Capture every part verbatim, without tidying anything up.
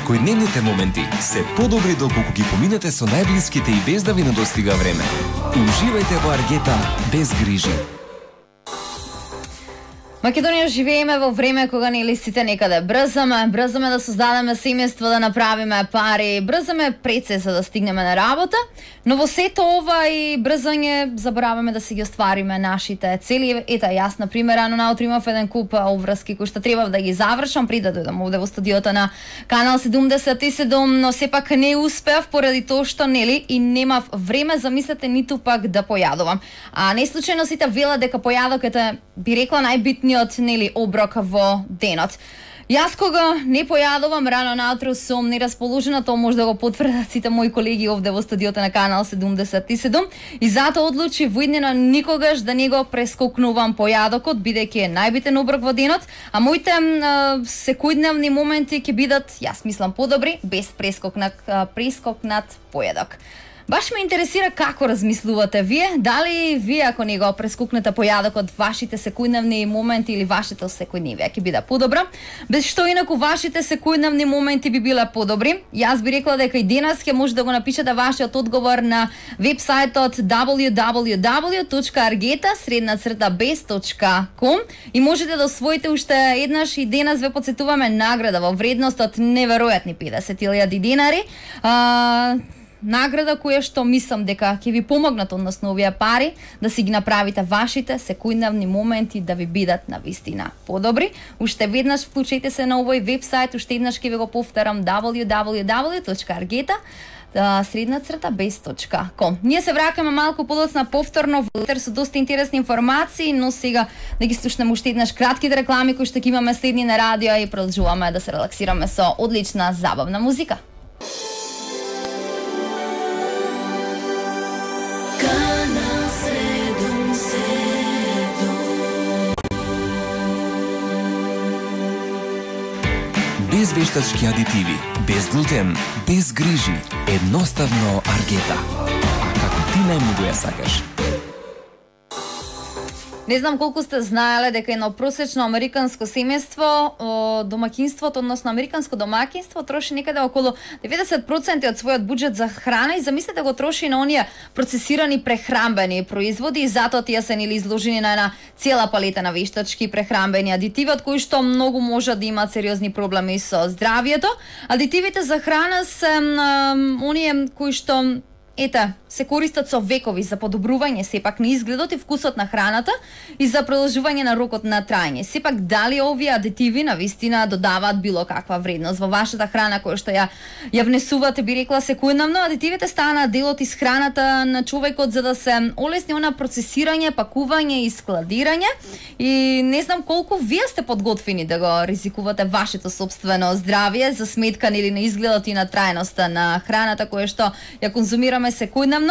Секојдневните моменти се подобри доколку ги поминете со најблиските и без да ви недостига време. Уживајте во Аргета без грижи. Македонија живееме во време кога нели сите некаде брзаме, брзаме да создадеме семејство, да направиме пари, брзаме прецес за да стигнеме на работа, но во сето ова и брзање забораваме да си ги оствариме нашите цели. Ета, јас на пример рано наутро имав еден куп обврски кои што требав да ги завршам пред да дојдам овде во студиото на Канал седумдесет и седум, но сепак не успеав поради тоа што нели и немав време, замислете, ниту пак да појадувам. А не случајно сите велат дека појадокот е, би рекла, најбитниот нели оброк во денот. Јас кога не појадувам рано наутро сум нерасположена, тоа може да го потврдат сите мои колеги овде во студиото на Канал седумдесет и седум, и затоа одлучи во иднина никогаш да не го прескокнувам појадокот, бидејќи е најбитен оброк во денот, а моите а, секојдневни моменти ќе бидат, јас мислам, подобри без прескокнат прескокнат појадок. Баш ме интересира како размислувате вие, дали вие ако не го прескукнете појадокот, вашите секојдневни моменти или вашето секојдневие ќе биде подобро, без што инаку вашите секојдневни моменти би биле подобри. Јас би рекла дека и денес ќе може да го напишете вашиот одговор на вебсајтот дабл ю дабл ю дабл ю точка аргета средна црта без точка ком и можете да освоите уште еднаш и денес ве потсетуваме награда во вредност од неверојатни педесет илјади динари. А, награда која што мислам дека ќе ви помогнат, односно овие пари, да си ги направите вашите секојдневни моменти да ви бидат на вистина подобри. Уште веднаш вклучете се на овој вебсајт, уште еднаш ќе ви го повторам дабл ю дабл ю дабл ю точка аргета средна црта без точка ком. Ние се враќаме малку подоцна повторно во етер со доста интересни информации, но сега да ги слушнеме уште еднаш кратките реклами кои што ќе имаме следни на радио и продолжуваме да се релаксираме со одлична забавна музика. Без вештачки адитиви, без глутен, без грижи, едноставно Аргета. А како ти најмногу ја сакаш? Не знам колку сте знаеле дека едно просечно американско семејство, домаќинството, односно американско домаќинство троши некаде околу деветдесет проценти од својот буџет за храна и замислете го троши на оние процесирани прехрамбени производи и затоа тие се нели изложени на една цела палета на вештачки прехрамбени адитиви од кои што многу може да имаат сериозни проблеми со здравието. Адитивите за храна се оние кои што ете, се користат со векови за подобрување сепак на изгледот и вкусот на храната и за продолжување на рокот на траење. Сепак дали овие адитиви на вистина додаваат било каква вредност во вашата храна која што ја ја внесувате, би рекла секојдневно? Адитивите станаа делот из храната на човекот за да се олесни она процесирање, пакување и складирање. И не знам колку вие сте подготвени да го ризикувате вашето сопствено здравје за сметка нели на изгледот и на трајноста на храната која што ја конзумираме секојдневно.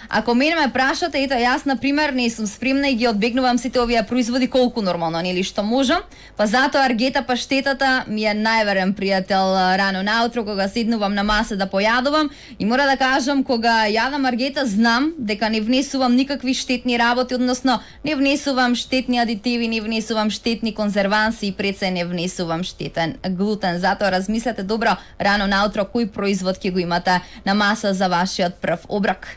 Ако мене ме прашате, ето јас на пример не сум спремна и ги одбегнувам сите овие производи колку нормално нели што можам, па затоа Аргета паштетата ми е најверен пријател рано наутро кога седнувам на маса да појадувам и мора да кажам кога јадам Аргета знам дека не внесувам никакви штетни работи, односно не внесувам штетни адитиви, не внесувам штетни конзерванси и пред се не внесувам штетен глутен. Затоа размислете добро рано наутро кој производ ќе го имате на маса за вашиот прв оброк.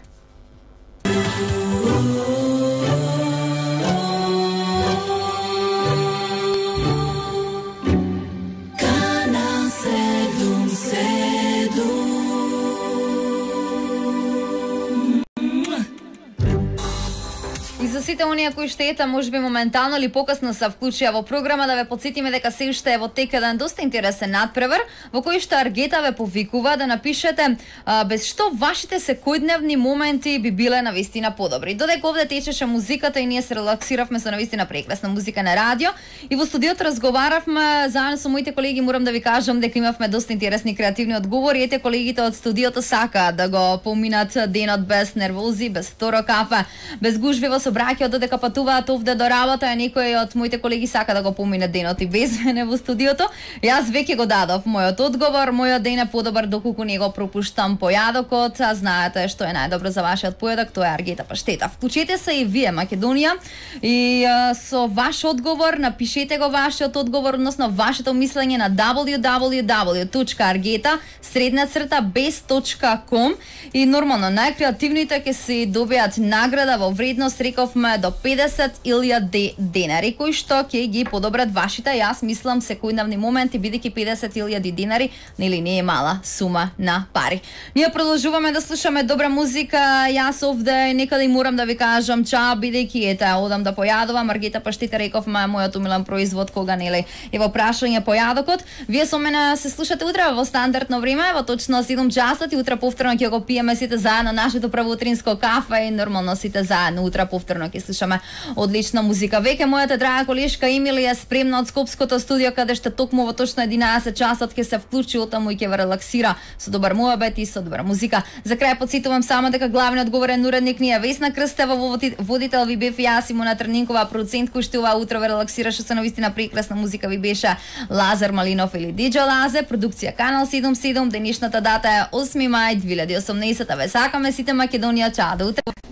За сите оние кои што ета можеби моментално или покасно се вклучија во програма, да ве потсетиме дека се уште е во тек еден доста интересен надпревар во кој што Аргета ве повикува да напишете а, без што вашите секојдневни моменти би биле навистина подобри. Додека овде течеше музиката и ние се релаксиравме со навистина прекрасна музика на радио и во студиото разговаравме заедно со моите колеги, морам да ви кажам дека имавме доста интересни креативни одговори. Ете, колегите од студиото сакаат да го поминат денот без нервози, без второ кафе, без гужви во собраќето, додека патуваат овде до работа, а некој од моите колеги сака да го помине денот и без мене во студиото. Јас веќе го дадов мојот одговор. Мојот ден е подобар доколку не го пропуштам појадокот, а знаете што е најдобро за вашиот појадок, тоа е аргета паштета. Вклучете се и вие, Македонија, и а, со ваш одговор напишете го вашиот одговор, односно вашето мислење на дабл ю дабл ю дабл ю точка аргета средна црта без точка ком и нормално најкреативните ќе се добијат награда во вредност, рековме, до педесет илјади денари, кои што ќе ги подобрат вашите, јас мислам, секојдневни моменти, бидејќи педесет илјади денари нели не е мала сума на пари. Ние продолжуваме да слушаме добра музика. Јас овде некаде морам да ви кажам чао, бидејќи ете одам да појадувам аргета паштета, рековме, мојот умилен производ кога нели е во прашање појадокот. Вие со мене се слушате утре во стандардно време, во точно седум часот и утре повторно ќе го пиеме сите заедно нашето правоутринско кафе и нормално сите заедно утре повторно ќе слушаме одлична музика. Веќе мојата драга колешка Емилија спремна од Скопското студио, каде што токму во точно единаесет часот ќе се вклучи отаму и ќе ве релаксира со добар муабет и со добра музика. За крај потсетувам само дека главниот говорен уредник ни е Весна Крстева, во водител ви бев јас и Мона Трнинкова, продуцент кој што ова утро ве релаксираше со навистина прекрасна музика ви беше Лазар Малинов или Диџе Лазе, продукција Канал седумдесет и седум, денешната дата е осми мај две илјади и осумнаесета. Ве сакаме сите Македонија, чао до утре.